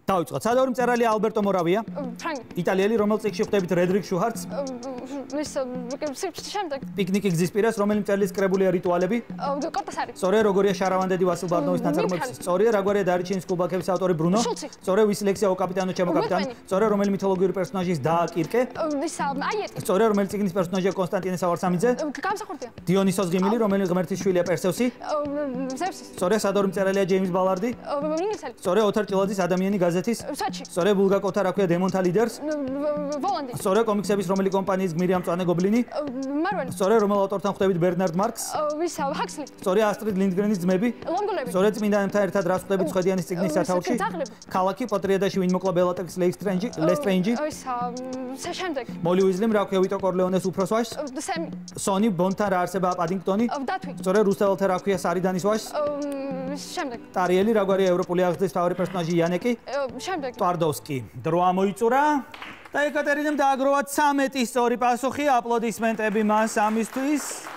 დავიწყოთ. სადავრი მწერალია ალბერტო მორავია. იტალიელი, რომელიც წიგნში ხვდებით რედრიკ შუჰარტს. პიკნიკი გზის პირას, რომელი მწერლის კრებულია რიტუალები? სწორია, როგორია შარავანდედი ვასილ ბარნოვის ნაწარმოების? სწორია, რაგვარია დარიჩინის კუბაკების ავტორი ბრუნო? სწორია, ვის ლექსია ო კაპიტანო ჩემო კაპიტანი? სწორია, რომელი მითოლოგიური პერსონაჟის და კირკე? სწორია, რომელი წიგნის პერსონაჟია კონსტანტინე სავარსამიძე? დიონისოს ღიმილი, რომელი ღმერთის შვილია პერსევსი? სწორია, სადავრი მწერალია ჯეიმს ბალარდი? სწორია, ოთარ ჭილაძის ადამიანი გაზეთის? სწორია, ბულგაკოთა რა ქვია დემონთა ლიდერს? სწორია, კომიქსების რომელი კომპანიის გმირი ამ მწვანე გობლინი? სწორია, რომელ ავტორთან ხვდებით ბერნარდ მარკს? სწორია, ასტრიდ ლინდგრენის ძმები? სწორია, წმინდანებთან ერთად რას ხვდებით ხვედიანის წიგნის სათავში? ქალაქი, პოტრიადაში ვინ მოკლა ბელატექს ლესტრენჯი? მოლი უიზლიმ რა ქვია ვიტო კორლეონეს უფროს ვაჟს? სონი ბონთან რა არსებაა პადინგტონი? სწორია, რუსთაველთა რა ქვია სარიდანის ვაჟს? ტარიელი რაგვარია ევროპული აღზრდის მთავარი პერსონაჟი იანეკი? ტვარდოვსკი. დრო ამოიწურა და ეკატერინემ დააგროვა 13 სწორი პასუხი. აპლოდისმენტები მას ამისთვის.